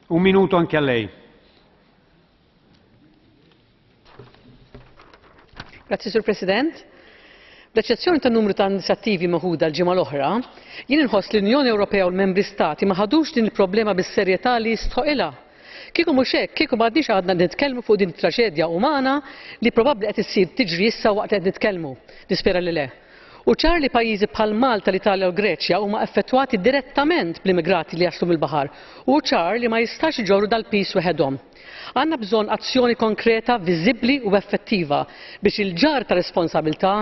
Un minuto anche a lei. Grazzi, Sur President. Bl-eċċezzjoni ta' numru ta' inizjattivi meħuda l-ġimgħa l-oħra, jien inħoss li l-Unjoni Ewropea u l-Membri Stati ma ħadux din il-problema bis-serjetà li jistħoqilha. Kieku mhux hekk, kieku m'għadniex għadna nitkellmu fuq din it-traġedja umana li probabbli qed issir tiġri issa waqt li qed nitkellmu. Nispera li le. Hu ċar li pajjiżi bħal Malta, l-Italja u l-Greċja huma effettwati direttament bl-immigrati li jaslu mill-baħar u hu ċar li ma jistax iġorru dal-piż weħedhom. Għandna bżonn azzjoni konkreta, viżibbli u effettiva biex il-ġarr ta' responsabilità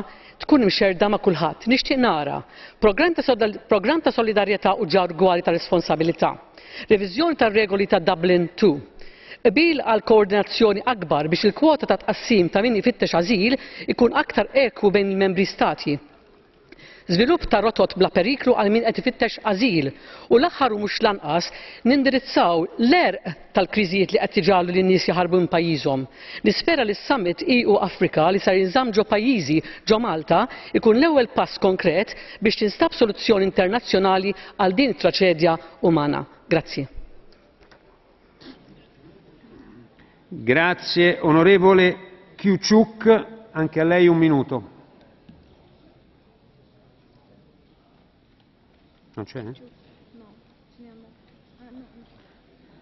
tkun imxerrda ma' kulħadd. Nixtieq nara programm ta' programm ta' solidarjetà u ġarr ugwali ta' responsabilità. Reviżjoni tar-regoli ta' Dublin ii. Qbil għal koordinazzjoni akbar biex il-kwota ta' tqassim ta' min ifittex ażil ikun aktar ekwu bejn il-membri stati. Żvilupp ta' rotot bla periklu għal min qed ifittex ażil. U l-aħħar u mhux l-anqas, nindirizzaw l-għerq tal-kriżijiet li qed iġagħlu lin-nies jaħarbu minn pajjiżhom. Nispera li s-Summit EU-Afrika li ser jinżamm ġo pajjiżi, ġo Malta, ikun l-ewwel pass konkret biex tinstab soluzzjoni internazzjonali għal din it-traċedja umana. Grazzi. Grazie. Onorevole Kyuchyuk, anche a lei un minuto. Non c'è?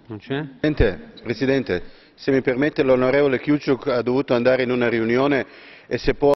Non c'è? Presidente, Presidente, se mi permette l'onorevole Kyuchyuk ha dovuto andare in una riunione e se può